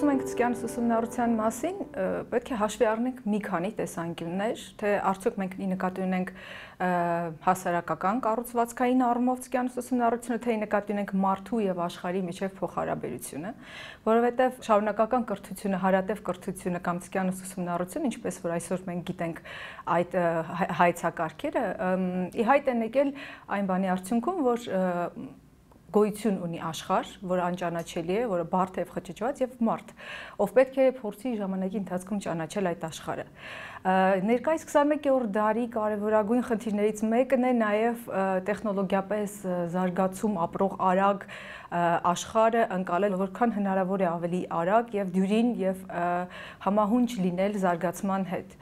խոսում ենք ցկյանս ուսումնառության մասին, պետք է հաշվի առնենք մի քանի տեսանկյուններ, թե արդյոք մենք նկատի ունենք հասարակական կառուցվածքային առումով ցկյանս ուսումնառությունը, թե նկատի ունենք մարդու եւ աշխարհի միջև փոխհարաբերությունը, որովհետեւ շարունակական կրթությունը, հարատև կրթությունը կամ ցկյանս ուսումնառությունը, ինչպես որ այսօր մենք գիտենք այդ հայեցակարգերը, ի հայտ են եկել այն բանի արդյունքում, որ գոյություն ունի աշխարհ, որը անճանաչելի է, որը բարդ է եւ խճճված եւ մարդ, ով պետք է փորձի ժամանակի ընթացքում ճանաչել այդ աշխարհը։ Ներկայիս 21-րդ դարի կարևորագույն խնդիրներից մեկն է նաեւ տեխնոլոգիապես զարգացում ապրող արագ աշխարհը ընկալել որքան հնարավոր է ավելի արագ եւ դյուրին եւ համահունչ լինել զարգացման հետ։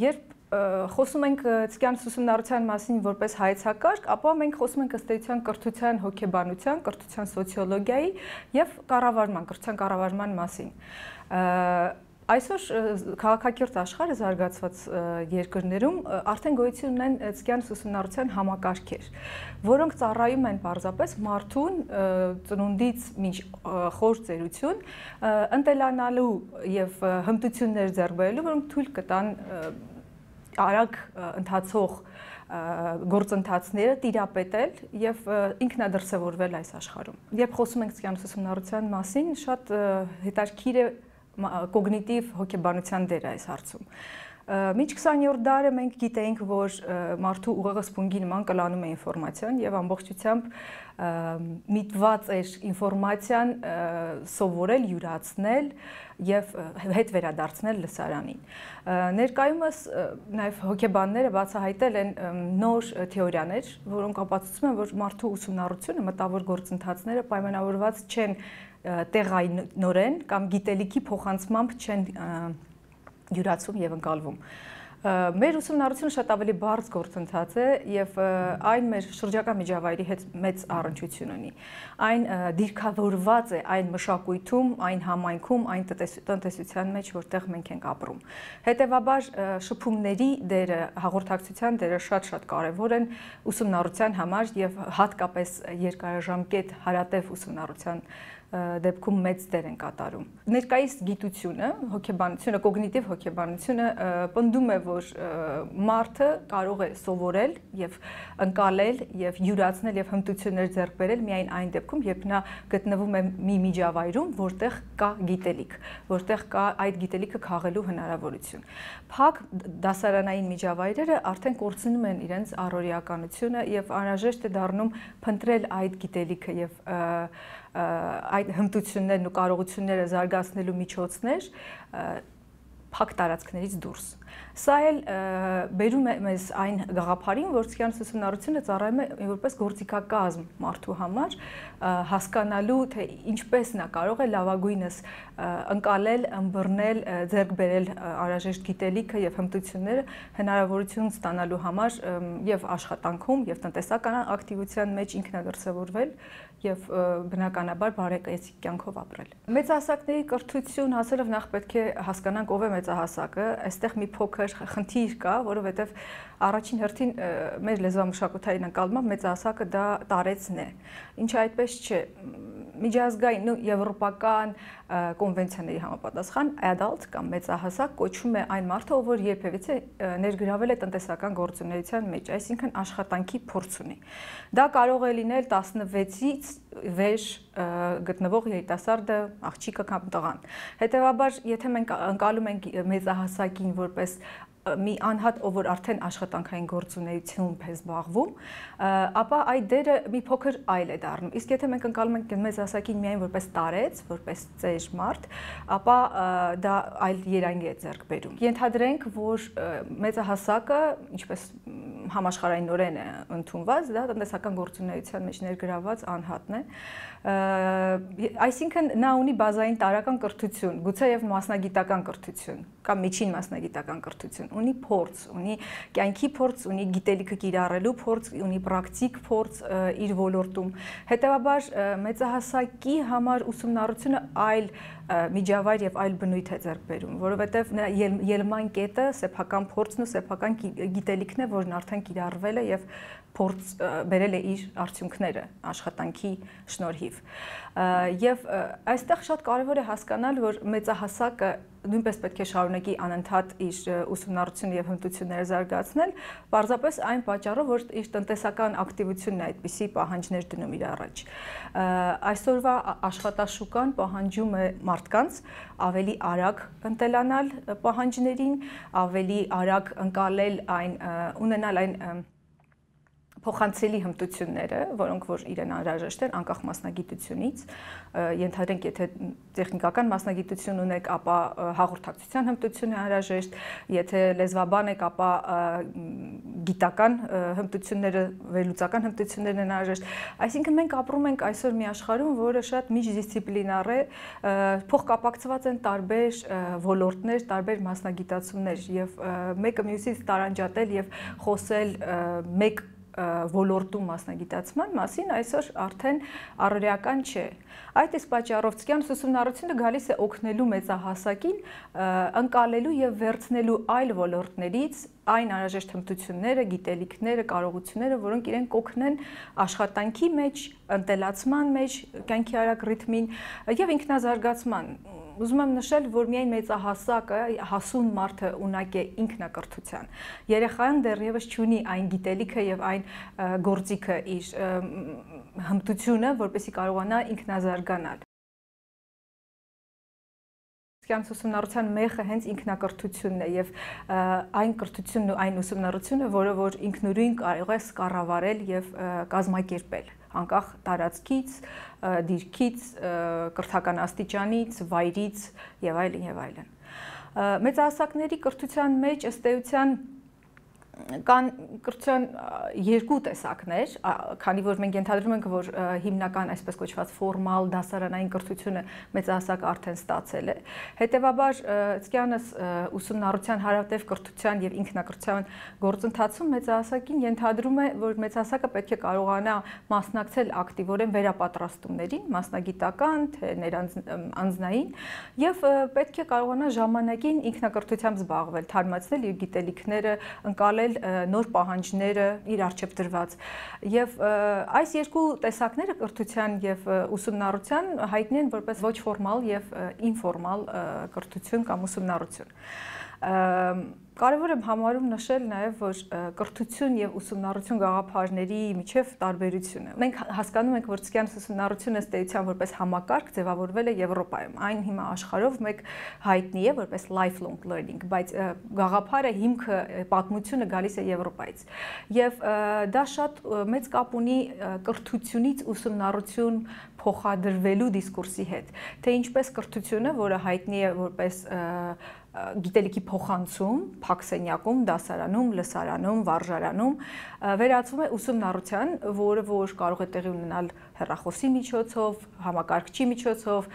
Երբ խոսում ենք ցկյանս ուսումնառության մասին որպես հայեցակարգ, ապա մենք խոսում ենք ըստ էության կրթության, հոգեբանության, կրթության սոցիոլոգիայի եւ կառավարման, կրթության կառավարման մասին։ Այսօր քաղաքակիրթ աշխարհը զարգացված երկրներում արդեն գոյություն ունեն ցկյանս ուսումնառության համակարգեր, որոնք ծառայում են պարզապես մարդուն ծնունդից մինչ խոր ծերություն ընտելանալու եւ հմտություններ ձեռք բերելու, որոնք թույլ կտան արագ ընթացող գործընթացները տիրապետել եւ ինքնադրսևորվել այս աշխարհում։ Երբ խոսում ենք ցկյանս ուսումնառության մասին, շատ հետաքրքիր է կոգնիտիվ հոգեբանության դերը այս հարցում։ Մինչ 20-րդ դարը մենք գիտեինք, որ մարդու ուղեղը սպունգի նման կլանում է ինֆորմացիան եւ ամբողջությամբ միտված էր ինֆորմացիան սովորել, յուրացնել եւ հետ վերադարձնել լսարանին։ Ներկայումս նաեւ հոգեբանները բացահայտել են նոր թեորիաներ, որոնք ապացուցում են, որ մարդու ուսումնառությունը, մտավոր գործընթացները պայմանավորված չեն տեղայնորեն կամ գիտելիքի փոխանցմամբ չեն յուրացում եւ ընկալվում։ Մեր ուսումնառությունը շատ ավելի բարձ գործընթաց է եւ այն մեր շրջակա միջավայրի հետ մեծ առնչություն ունի։ Այն դիրքավորված է այն մշակույթում, այն համայնքում, այն տնտեսության մեջ, որտեղ մենք ենք ապրում։ Հետևաբար շփումների դերը, հաղորդակցության դերը շատ կարեւոր են ուսումնառության համար եւ հատկապես երկարաժամկետ հարատև ուսումնառության դեպքում մեծ դեր են կատարում։ Ներկայիս գիտությունը, հոգեբանությունը, կոգնիտիվ հոգեբանությունը պնդում է, որ մարդը կարող է սովորել եւ ընկալել եւ յուրացնել եւ հմտություններ ձեռք բերել միայն այն դեպքում, երբ նա գտնվում է մի միջավայրում, որտեղ կա գիտելիք, որտեղ կա այդ գիտելիքը քաղելու հնարավորություն։ Փակ դասարանային միջավայրերը արդեն կորցնում են իրենց առօրեականությունը եւ անհրաժեշտ է դառնում փնտրել այդ գիտելիքը եւ այդ հմտություններն ու կարողությունները զարգացնելու միջոցներ փակ տարածքներից դուրս։ Սա էլ բերում է մեզ այն գաղափարին, որ ցկյանս ուսումնառությունը ծառայում է որպես գործիքակազմ մարդու համար, հասկանալու, թե ինչպես նա կարող է լավագույնս ընկալել, ըմբռնել, ձեռք բերել անհրաժեշտ գիտելիքը եւ հմտությունները հնարավորություն ստանալու համար եւ աշխատանքում եւ տնտեսական ակտիվության մեջ ինքնադրսևորվել եւ բնականաբար բարեկեցիկ կյանքով ապրել։ Մեծահասակների կրթություն հասելով նախ պետք է հասկանանք ով է մեծահասակը, այստեղ մի փոքր խնդիր կա, որովհետեւ առաջին հերթին մեր լեզվամշակութային ընկալմամբ մեծահասակը դա տարեցն է, ինչը այդպես չէ։ Միջազգային ու եվրոպական կոնվենցիաների համապատասխան adult կամ մեծահասակ կոչվում է այն մարդը, ով երբևիցե ներգրավել է տնտեսական գործունեության մեջ, այսինքն աշխատանքի փորձ ունի։ Դա կարող է լինել 16-ից վեր գտնվող երիտասարդը, աղջիկը կամ տղան։ Հետևաբար, եթե մենք ընկալում ենք մեծահասակին որպես մի անհատ, ով որ արդեն աշխատանքային գործունեությամբ է զբաղվում, ապա այդ դերը մի փոքր այլ է դառնում։ Իսկ եթե մենք ընկալում ենք մեծահասակին միայն որպես տարեց, որպես ծեր մարդ, ապա դա այլ երանգ է ձեռք բերում։ Ենթադրենք, որ մեծահասակը, ինչպես համաշխարհայինորեն է ընդունված, դա տնտեսական գործունեության մեջ ներգրավված անհատն է, այսինքն նա ունի բազային տարրական կրթություն, գուցեև մասնագիտական կրթություն կամ միջին մասնագիտական կրթություն, ունի փորձ, ունի կյանքի փորձ, ունի գիտելիքը կիրառելու փորձ, ունի պրակտիկ փորձ իր ոլորտում։ Հետևաբար մեծահասակի համար ուսումնառությունը այլ միջավայր եւ այլ բնույթ է ձեռք բերում, որովհետեւ նրա ելման կետը սեփական փորձն ու սեփական գիտելիքն է, որն արդեն կիրառվել է եւ փորձ բերել է իր արդյունքները աշխատանքի շնորհիվ։ Եվ այստեղ շատ կարևոր է հասկանալ, որ մեծահասակը նույնպես պետք է շարունակի անընդհատ իր ուսումնառությունը եւ հմտությունները զարգացնել, պարզապես այն պատճառով, որ իր տնտեսական ակտիվությունն է այդպիսի պահանջներ դնում իր առաջ։ Այսօրվա աշխատաշուկան պահանջում է մարդկանց ավելի արագ ընտելանալ պահանջներին, ավելի արագ ընկալել այն, ունենալ այն փոխանցելի հմտությունները, որոնք որ իրեն անհրաժեշտ են անկախ մասնագիտությունից, ենթադրենք, եթե տեխնիկական մասնագիտություն ունեք, ապա հաղորդակցության հմտություն է անհրաժեշտ, եթե լեզվաբան եք, ապա գիտական հմտությունները, վերլուծական հմտություններն են անհրաժեշտ։ Այսինքն մենք ապրում ենք այսօր մի աշխարհում, որը շատ միջդիսցիպլինար է, փոխկապակցված են տարբեր ոլորտներ, տարբեր մասնագիտացումներ եւ մեկը մյուսից տարանջատել եւ խոսել մեկ ոլորտում մասնագիտացման մասին այսօր արդեն առօրեական չէ։ Այդ իսկ պատճառով ցկյանս ուսումնառությունը գալիս է օգնելու մեծահասակին ընկալելու եւ վերցնելու այլ ոլորտներից այն անհրաժեշտ հմտությունները, գիտելիքները, կարողությունները, որոնք իրեն կօգնեն աշխատանքի մեջ, ընտելացման մեջ, կյանքի արագ ռիթմին եւ ինքնազարգացման։ Ուզում եմ նշել, որ միայն մեծահասակը, հասուն մարդը ունակ է ինքնակրթության։ Երեխան դեռևս չունի այն գիտելիքը եւ այն գործիքը իր հմտությունը, որպեսզի կարողանա ինքնազարգանալ։ Ուսումնառության մեխը հենց ինքնակրթությունն է եւ այն կրթությունն ու այն ուսումնառությունը, որը որ ինքնուրույն կարող է կառավարել եւ կազմակերպել անկախ տարածքից, դիրքից, կրթական աստիճանից, վայրից եւ այլն եւ այլն։ Մեծահասակների կրթության մեջ ըստ էության կան կրթության երկու տեսակներ, քանի որ մենք ենթադրում ենք, որ հիմնական այսպես կոչված ֆորմալ դասարանային կրթությունը մեծահասակը արդեն ստացել է։ Հետևաբար ցկյանս ուսումնառության հարատև կրթության եւ ինքնակրթության գործընթացում մեծահասակին ենթադրում է, որ մեծահասակը պետք է կարողանա մասնակցել ակտիվորեն վերապատրաստումներին, մասնագիտական, թե անձնային, եւ պետք է կարողանա ժամանակին ինքնակրթությամբ զբաղվել, թարմացնել իր գիտելիքները, ընկալել նոր պահանջները իր առջև դրված եւ այս երկու տեսակները կրթության եւ ուսումնառության հայտնի են որպես ոչ ֆորմալ եւ ինֆորմալ կրթություն կամ ուսումնառություն։ Կարևոր է համարում նշել նաև, որ կրթություն եւ ուսումնառություն գաղափարների միջև տարբերությունը։ Մենք հասկանում ենք, որ ցկյանս ուսումնառությունը ըստ էության որպես համակարգ ձևավորվել է Եվրոպայում։ Այն հիմա աշխարհով մեկ հայտնի է որպես lifelong learning, բայց գաղափարը հիմքը պատմությունը գալիս է Եվրոպայից։ Եվ դա շատ մեծ կապ ունի կրթությունից ուսումնառություն փոխադրվելու դիսկուրսի հետ, թե ինչպես կրթությունը, որը հայտնի է որպես գիտելիքի փոխանցում, փակսենյակում, դասարանում, լսարանում, վարժարանում, վերածվում է ուսումնառության, որը որ կարող է տեղի ունենալ հեռախոսի միջոցով, համակարգչի միջոցով,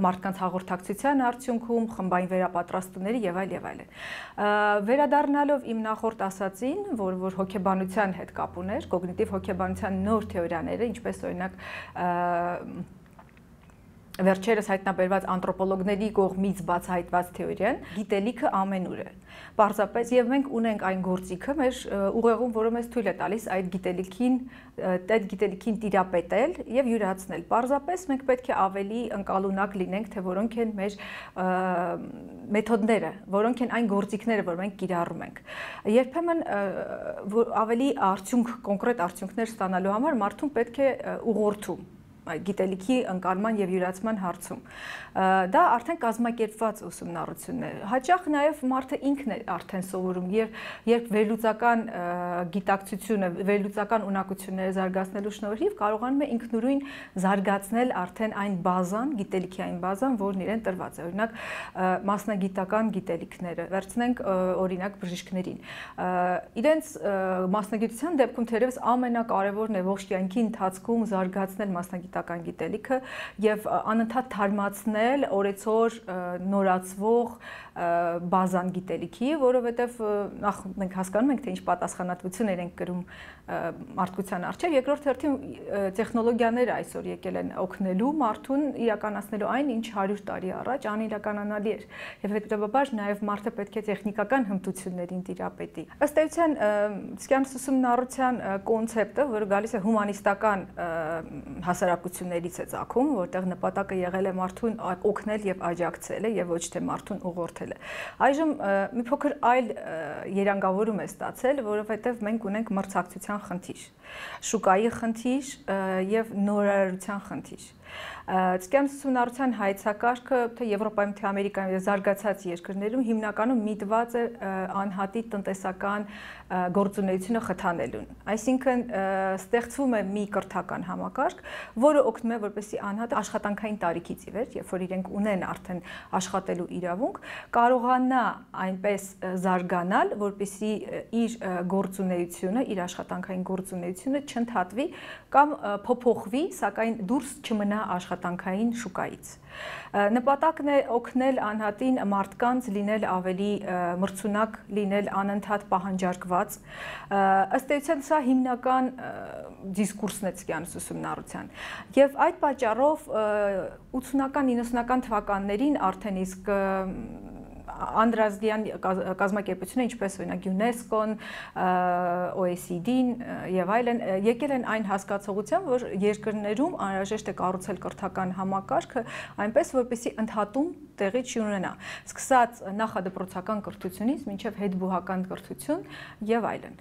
մարդկանց հաղորդակցության արդյունքում, խմբային վերապատրաստումների եւ այլ եւ այլն։ Վերադառնալով իմ նախորդ ասածին, որ հոգեբանության հետ կապ ուներ, կոգնիտիվ հոգեբանության նոր թեորիաները, ինչպես օրինակ վերջերս հայտնաբերված անթրոպոլոգների կողմից բացահայտված թեորիան, գիտելիքը ամենուր է։ Պարզապես եւ մենք ունենք այն գործիքը մեր ուղեղում, որը մեզ թույլ է տալիս այդ գիտելիքին տիրապետել եւ յուրացնել։ Պարզապես մենք պետք է ավելի ընկալունակ լինենք, թե որոնք են մեր մեթոդները, որոնք են այն գործիքները, որ մենք կիրառում ենք։ Երբեմն ավելի կոնկրետ արդյունքներ ստանալու համար մարդուն պետք է ուղղորդում գիտելիքի ընկալման եւ յուրացման հարցում։ Դա արդեն կազմակերպված ուսումնառությունն է։ Հաճախ նաեւ մարդը ինքն է արդեն սովորում, երբ վերլուծական գիտակցությունը, վերլուծական ունակությունները զարգացնելու շնորհիվ կարողանում է ինքնուրույն զարգացնել արդեն այն բազան, գիտելիքի այն բազան, որն իրեն տրված է։ Օրինակ մասնագիտական գիտելիքները, վերցնենք օրինակ բժիշկներին։ Իրենց մասնագիտության դեպքում թերևս ամենակարևորն է ողջ կյանքի ընթացքում զարգացնել մասնագիտական գիտելիքը եւ անընդհատ թարմացնել օրեցօր նորացվող բազան գիտելիքի, որովհետեւ նախ մենք հասկանում ենք, թե ինչ պատասխանատվություն պատվություն ենք կրում մարդկության առջև, երկրորդ հերթին տեխնոլոգիաները այսօր եկել են օգնելու մարդուն իրականացնելու այն, ինչ 100 տարի առաջ անիրականանալի էր, եւ հետեւաբար նաեւ մարդը պետք է տեխնիկական հմտություններին տիրապետի։ Ըստ էության ցկյանս ուսումնառության կոնցեպտը, որը գալիս է հումանիստական հասարակություններից է ծագում, որտեղ նպատակը եղել է մարդուն օգնել եւ աջակցել եւ ոչ թե մարդուն ուղղորդել է։ Այժմ մի փոքր այլ երանգավորում է ստացել, որովհետեւ մենք ունենք մրցակցության խնդիր, շուկայի խնդիր եւ նորարարության խնդիր։ Ցկյանս ուսումնառության հայեցակարգը թե Եվրոպայում, թե Ամերիկայում եւ զարգացած երկրներում հիմնականում միտված է անհատի տնտեսական գործունեությունը խթանելուն։ Այսինքն ստեղծվում է մի կրթական համակարգ, որը օգնում է որպեսզի անհատը աշխատանքային տարիքից ի վեր, երբ որ իրենք ունեն արդեն աշխատելու իրավունք, կարողանա այնպես զարգանալ, որպեսզի իր գործունեությունը, իր աշխատանքային գործունեությունը չընդհատվի կամ փոփոխվի, սակայն դուրս չմնա աշխատանքային շուկայից։ Նպատակն է օգնել անհատին մարդկանց լինել ավելի մրցունակ, լինել անընդհատ պահանջարկված։ Ըստ էության սա հիմնական դիսկուրսն է ցկյանս ուսումնառության։ Եվ այդ պատճառով 80-ական, 90-ական թվականներին արդեն իսկ անդրազդյան կազմակերպությունը, ինչպես օրինակ ՅՈՒՆԵՍԿՕ-ն, OECD-ն եւ այլն, եկել են այն հասկացողությամբ, որ երկրներում անհրաժեշտ է կառուցել կրթական համակարգը այնպես, որպեսզի ընդհատում տեղի չունենա, սկսած նախադպրոցական կրթությունից մինչև հետբուհական կրթություն եւ այլն։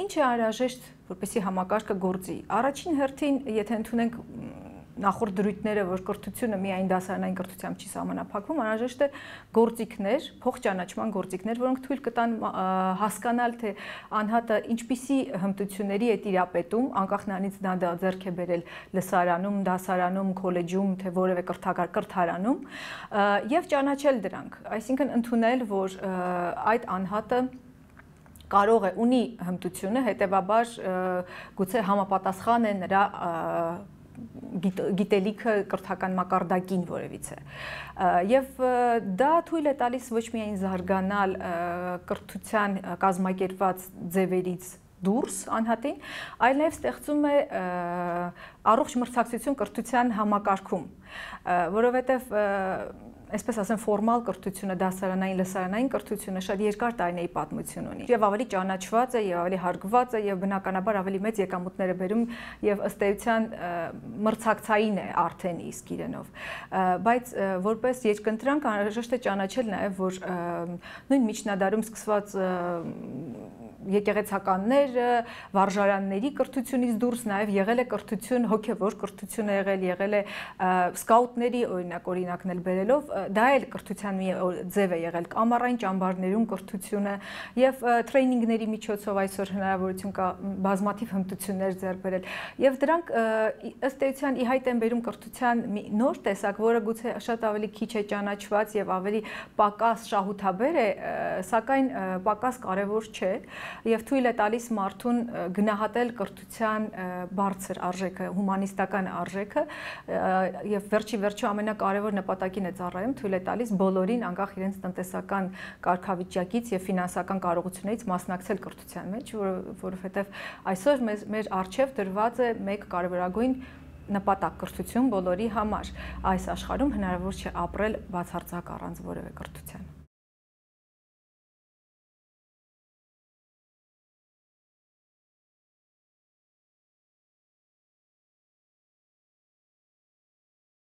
Ինչ է անհրաժեշտ, որպեսզի համակարգը գործի։ Առաջին հերթին, եթե ընդունենք նախորդ դրույթները, որ կրթությունը միայն դասարանային կրթությամբ չի սահմանափակվում, անհրաժեշտ է գործիքներ, փոխճանաչման գործիքներ, որոնք թույլ կտան հասկանալ, թե անհատը ինչպիսի հմտությունների է տիրապետում, անկախ նրանից նա ձեռք է բերել լսարանում, դասարանում, քոլեջում, թե որևէ կրթարանում, եւ ճանաչել դրանք, այսինքն ընդունել, որ այդ անհատը կարող է ունի հմտությունը, հետեւաբար գուցե համապատասխան է նրա գիտելիքը կրթական մակարդակին որևիցե։ Եվ դա թույլ է տալիս ոչ միայն զարգանալ կրթության կազմակերպված ձևերից դուրս անհատին, այլ նաև ստեղծում է առողջ մրցակցություն կրթության համակարգում, որովհետև այսպես ասեմ, ֆորմալ կրթությունը, դասարանային, լսարանային կրթությունը շատ երկար տարիների պատմություն ունի եւ ավելի ճանաչված է եւ ավելի հարգված է եւ բնականաբար ավելի մեծ եկամուտներ է բերում եւ ըստ էության մրցակցային է արդեն իսկ իրենով, բայց որպես երկընտրանք անհրաժեշտ է ճանաչել նաեւ, որ նույն միջնադարում սկսված եկեղեցականները, վարժարանների կրթությունից դուրս նաև եղել է կրթություն, հոգևոր կրթություն եղել է սկաուտների օրինակներ բերելով, դա էլ կրթության մի ձև է եղել, ամառային ճամբարներում կրթությունը եւ տրեյնինգների միջոցով այսօր հնարավորություն կա բազմաթիվ հմտություններ ձեռք բերել եւ դրանք ըստ էության ի հայտ են բերում կրթության մի նոր տեսակ, որը գուցե շատ ավելի քիչ է ճանաչված եւ ավելի պակաս շահութաբեր է, սակայն պակաս կարեւոր չէ եւ թույլ է տալիս մարդուն գնահատել կրթության բարձր արժեքը, հումանիստական արժեքը եւ վերջի ամենակարևոր նպատակին է ծառայում, թույլ է տալիս բոլորին անկախ իրենց տնտեսական կարգավիճակից եւ ֆինանսական կարողություններից մասնակցել կրթության մեջ, որովհետեւ այսօր մեր առջեւ դրված է մեկ կարևորագույն նպատակ կրթություն բոլորի համար։ Այս աշխարհում հնարավոր չէ ապրել բացարձակ առանց որևէ կրթության։